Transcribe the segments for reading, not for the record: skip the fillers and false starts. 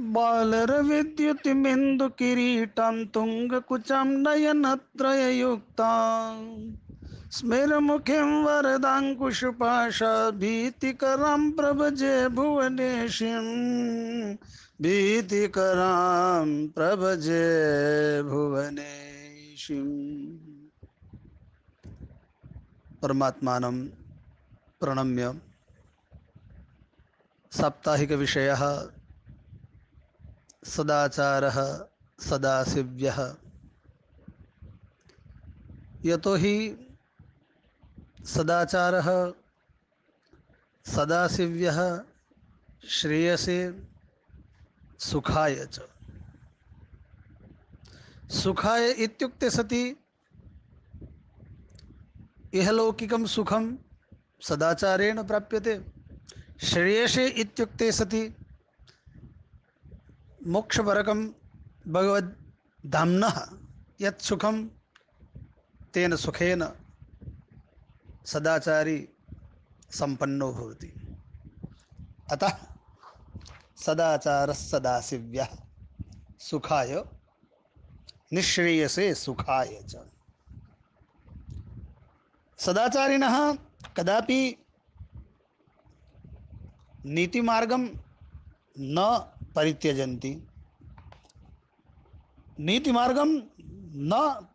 बालरविद्युतिमिन्दुकिरीटं तुङ्गकुचं नयनत्रययुक्तां स्मिरमुखीं वरदाङ्कुशपाशभीतिकरां प्रभजे भुवनेशीं भीतिकरां प्रभजे भुवनेशीम्। परमात्मानं प्रणम्य साप्ताहिकविषयः सदाचारः सदाशिव्यः। यतो हि सदाचारः सदाशिव्यः श्रेयसे सुखाय च। सुखाय इत्युक्ते सति इहलौकिकं सुखं सदाचारेण प्राप्यते। श्रेयसे इत्युक्ते सति मोक्षपरकं भगवद्धाम्नः यत् सुखं तेन सुखेन सदाचारी संपन्नो भवति। अतः सदाचारः सदाशिव्यः सुखाय निःश्रेयसे सुखाय च। सदाचारिणः कदापि नीतिमार्गं न परित्यजन्ति, नीतिमार्गं न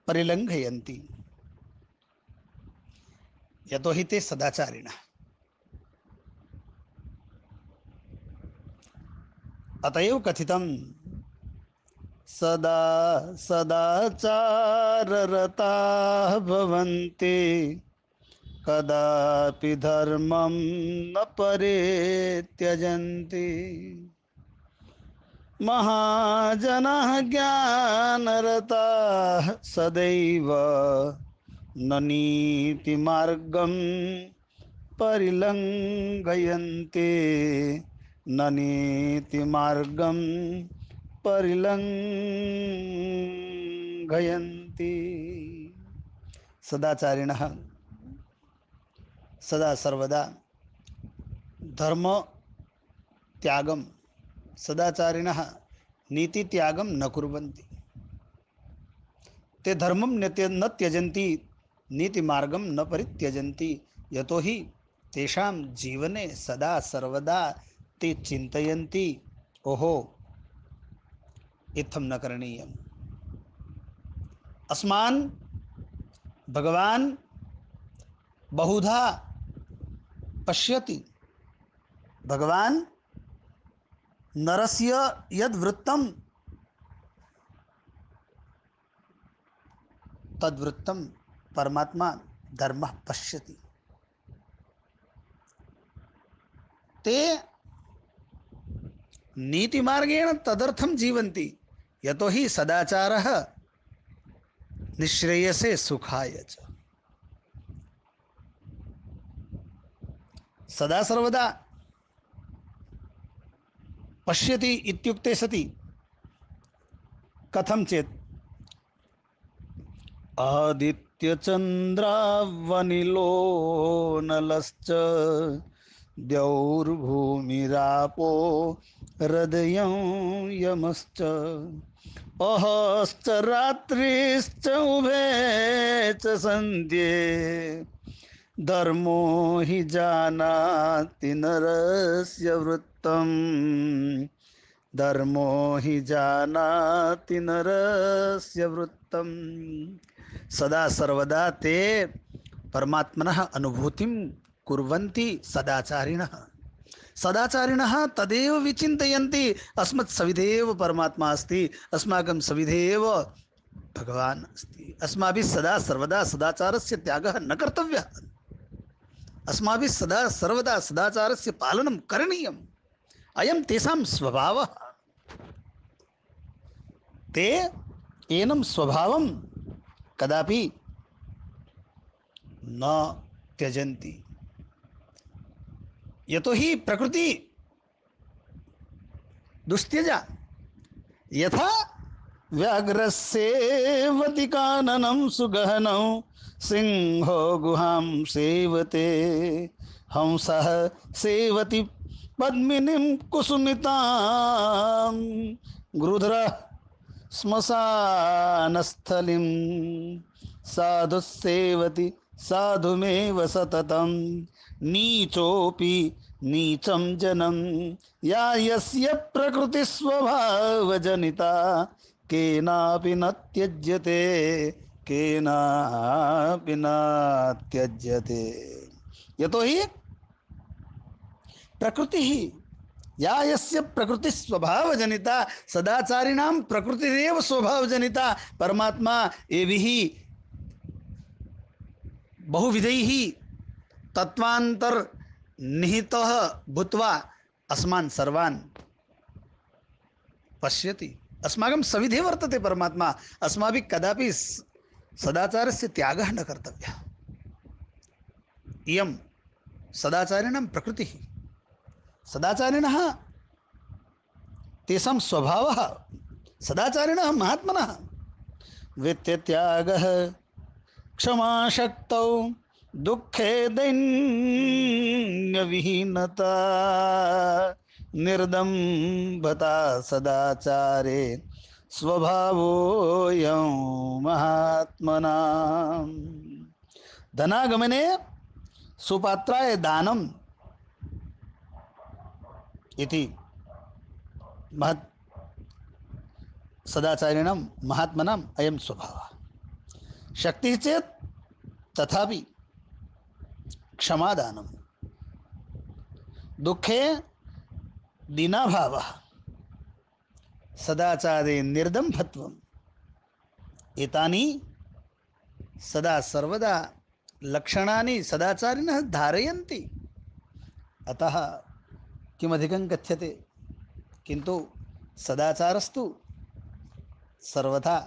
परिलङ्घयन्ति, यतो हि ते सदाचारिणः। अतएव कथितं सदा सदाचाररताः भवन्ति कदापि धर्मं न परित्यजन्ति। महाजनाः ज्ञानरताः सदैव न नीतिमार्गं परिलङ्घयन्ति न नीतिमार्गं परिलङ्घयन्ति। सदाचारिणः सदा सर्वदा धर्म त्यागं, सदाचारिणः नीति त्यागं न कुर्वन्ति। ते धर्मं न त्यजन्ति, नीतिमार्गं न परित्यजन्ति, यतो हि तेषां जीवने सदा सर्वदा ते चिन्तयन्ति, ओहो इत्थं न करणीयम्। अस्मान् भगवान् बहुधा पश्यति। भगवान् नरस्य यद्वृत्तं तद्वृत्तं परमात्मा धर्मः पश्यति। ते नीतिमार्गेण तदर्थं जीवन्ति, यतो हि सदाचारः निःश्रेयसे सुखाय च। सदा सर्वदा पश्यति इत्युक्ते सति कथं चेत् आदित्यचन्द्रावनिलो नलश्च द्यौर्भूमिरापो हृदयं यमश्च अहश्च रात्रिश्च उभे च सन्ध्ये धर्मो हि जानाति नरस्य वृत्तं धर्मो हि जानाति नरस्य वृत्तं। सदा सर्वदा ते परमात्मनः अनुभूतिं कुर्वन्ति सदाचारिणः। सदाचारिणः तदेव विचिन्तयन्ति, अस्मत् सविधेव परमात्मा अस्ति, अस्माकं सविधेव भगवान् अस्ति। अस्माभिः सदा सर्वदा सदाचारस्य त्यागः न कर्तव्यः। अस्माभिः सदा सर्वदा सदाचारस्य पालनं करणीयम्। अयं तेषां स्वभावः। ते एनं स्वभावं कदापि न त्यजन्ति, यतो हि प्रकृति दुस्त्यजा। यथा व्याघ्रस्येवति काननं सुगहनं सिंहो गुहां सेवते हंसः सेवति पद्मिनीं कुसुमितां गृध्रः श्मशानस्थलिं साधुः सेवति साधुमेव सततं नीचोऽपि नीचं जनं या यस्य प्रकृतिस्वभावजनिता केनापि न त्यज्यते केनापि न त्यज्यते यतो हि प्रकृति ही या यस्य प्रकृति स्वभाव जनिता सदाचारिणां प्रकृतिरेव स्वभाव जनिता परमात्मा एभिः बहुविधैः तत्वान्तर निहितः भूत्वा अस्मान् सर्वान् पश्यति। अस्माकं सविधे वर्तते परमात्मा। अस्माभिः कदापि सदाचारस्य त्यागः न कर्तव्यः। इयं सदाचारिणां प्रकृतिः। सदाचारिणः तेषां स्वभावः सदाचारिणः महात्मनः वित्तत्यागः क्षमाशक्तौ दुःखे दैन्यविहीनता निर्दम्भता सदाचारे स्वभावोऽयं महात्मनां धनागमने सुपात्राय दानम् इति महत् सदाचारिणां महात्मनाम् अयं स्वभावः। शक्तिः चेत् तथापि क्षमादानं दुःखे दीनाभावः सदाचारे निर्दम्भत्वम् एतानि सदा सर्वदा लक्षणानि सदाचारिणः धारयन्ति। अतः किमधिकं कथ्यते किन्तु सदाचारस्तु सर्वथा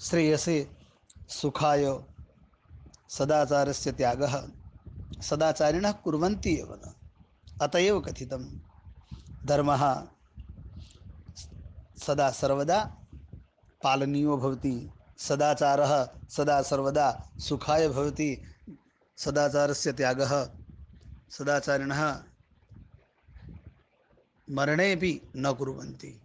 श्रेयसे सुखाय सदाचारस्य त्यागः सदाचारिणः कुर्वन्ति एव न। अतएव कथितं धर्मः सदा सर्वदा पालनीयो भवति। सदाचारः सदा सर्वदा सुखाय भवति। सदाचारस्य त्यागः सदाचारिणः मरणेपि न कुर्वन्ति।